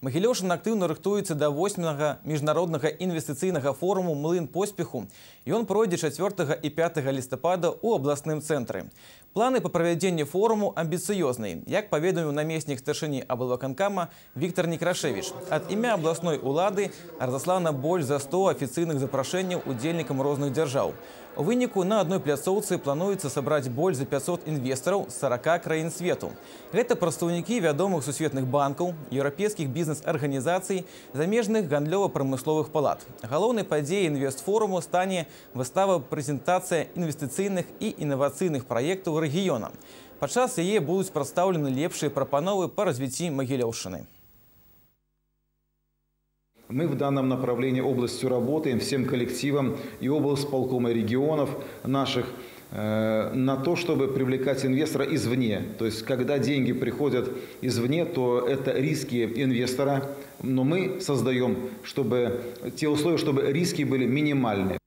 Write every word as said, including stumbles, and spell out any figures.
Магілёўшчына актыўна рыхтуецца да восьмага міжнароднага інвестыцыйнага форуму «Млын поспеху». Ён пройдзе чацвёртага і пятага лістапада ў абласным цэнтры. Планы па правядзенні форуму амбіцыёзныя, як паведаміў намеснік старшыні аблвыканкама Віктор Некрашевіч. Ад імя абласной улады разаслана больш за сто афіцыйных запрашэнняў удзельнікам розных дзяржаў. У выніку на адной пляцоўцы плануецца сабраць больш за пятьсот інвестараў з сорока краін свету. Гэта прадстаўнікі вядомых сусветных банкаў, еўрапейскіх бізнес-арганізацый, замежных гандлёва-прамысловых палат. Галоўнай падзеяй інвестфоруму стане выстава-прэзентацыя інвестыцыйных і інавацыйных праектаў рэгіёна. Падчас яе будуць прадстаўлены лепшыя прапановы па развіцці Магілёўшчыны. Мы в данном направлении областью работаем всем коллективом и облсполкома регионов наших э, на то, чтобы привлекать инвестора извне. То есть, когда деньги приходят извне, то это риски инвестора, но мы создаем, чтобы те условия, чтобы риски были минимальны.